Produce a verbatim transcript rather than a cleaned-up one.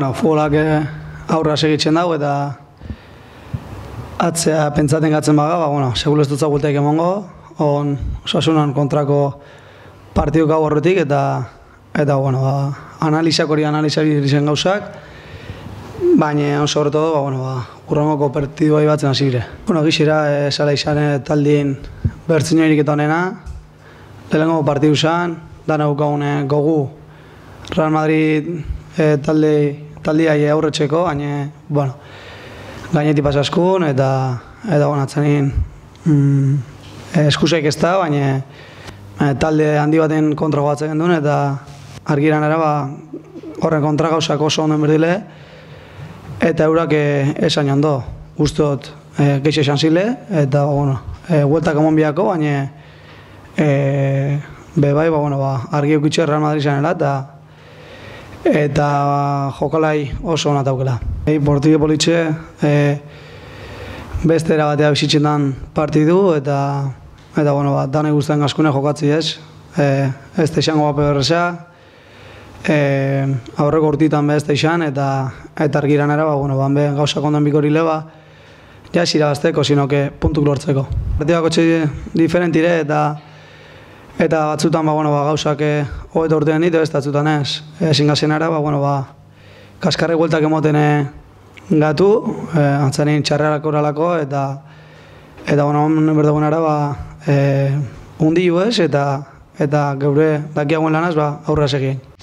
Bueno, futbolak aurra segitzen dago eta atzea pentsaten gatzen baga, ba, bueno, segur ez dutza gultaik emongo, on Osasunan kontrako partidu gau horretik eta, eta bueno, ba, analizak hori analizak zen gauzak, baina, sobre todo, ba, bueno, ba, urrangoko partidua ibatzen hasi gire. Bueno, gixera, esala izan taldien bertzinoirik eta honena, lehenengo partidu zan, dana gukagune gogu Real Madrid e, talde, taldiai aurretxeko, baina, bueno, gainetik pasaskun, eta, eta bueno, atzanin, mm, eskusaik ez da, baina e, talde handi baten kontra gogatzen genduen, eta argiran era, ba, horren kontra gauzak oso onden berdile, eta eurak e, esan jondo, guztot e, geixe esan zile, eta, bueno, e, hueltak emon biako, baina e, be bai, ba, bueno, ba, argi eukitxe Real Madrid zanela, eta eta jokalai oso ona daukela. Ei, Portugio politxe e, beste erabatea bizitzen dan partidu, eta eta bueno, ba, dane guztien askune jokatzi ez. E, ez da izango bape berreza, e, aurreko urtitan be ez da izan, eta eta argiran era, ba, bueno, ban be gauzak ondan bikorile, ba, ja ez irabazteko, sino que puntuk lortzeko. Partidako txe diferentire, eta Eta batzutan ba, bueno, ba, gauzak hogeita urtean ditu, ez batzutan ez. Ezin gazien ara, ba, bueno, ba, kaskarre gueltak emoten gatu, e, antzanin txarrerako oralako, eta eta bueno, berdagoen ara, ba, e, undi ez, eta, eta geure dakiagoen lanaz, ba, aurra segien.